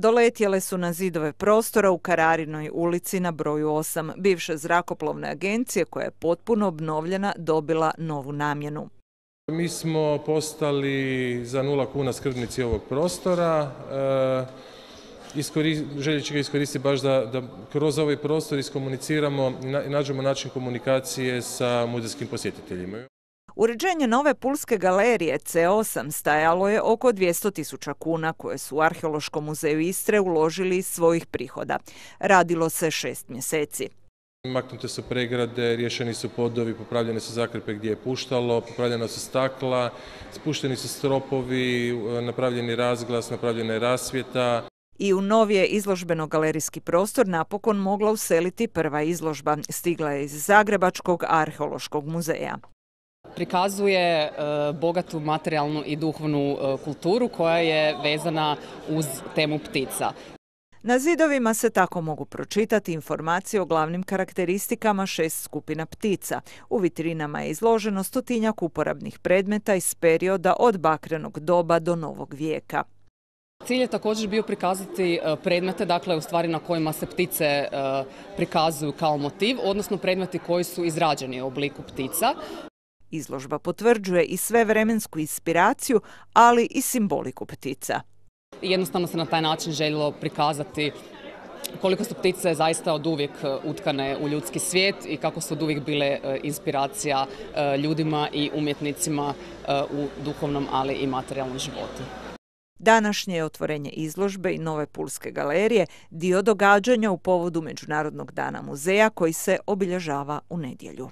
Doletjele su na zidove prostora u Kararinoj ulici na broju 8, bivše zrakoplovne agencije koja je potpuno obnovljena dobila novu namjenu. Mi smo postali za 0 kuna skrbnici ovog prostora. Željeći ga iskoristiti baš da kroz ovaj prostor iskomuniciramo i nađemo način komunikacije sa muzejskim posjetiteljima. Uređenje nove Pulske galerije C8 stajalo je oko 200.000 kuna koje su u Arheološkom muzeju Istre uložili iz svojih prihoda. Radilo se 6 mjeseci. Maknute su pregrade, riješeni su podovi, popravljene su zakrpe gdje je puštalo, popravljena su stakla, spušteni su stropovi, napravljeni razglas, napravljena je rasvjeta. I u nov je izložbeno-galerijski prostor napokon mogla useliti prva izložba. Stigla je iz Zagrebačkog arheološkog muzeja. Prikazuje bogatu materijalnu i duhovnu kulturu koja je vezana uz temu ptica. Na zidovima se tako mogu pročitati informacije o glavnim karakteristikama 6 skupina ptica. U vitrinama je izloženo 100-tinjak uporabnih predmeta iz perioda od bakrenog doba do novog vijeka. Cilj je također bio prikazati predmete, dakle u stvari na kojima se ptice prikazuju kao motiv, odnosno predmeti koji su izrađeni u obliku ptica. Izložba potvrđuje i svevremensku inspiraciju, ali i simboliku ptica. Jednostavno se na taj način željelo prikazati koliko su ptice zaista oduvijek utkane u ljudski svijet i kako su oduvijek bile inspiracija ljudima i umjetnicima u duhovnom, ali i materijalnom životu. Današnje je otvorenje izložbe i nove Pulske galerije dio događanja u povodu Međunarodnog dana muzeja koji se obilježava u nedjelju.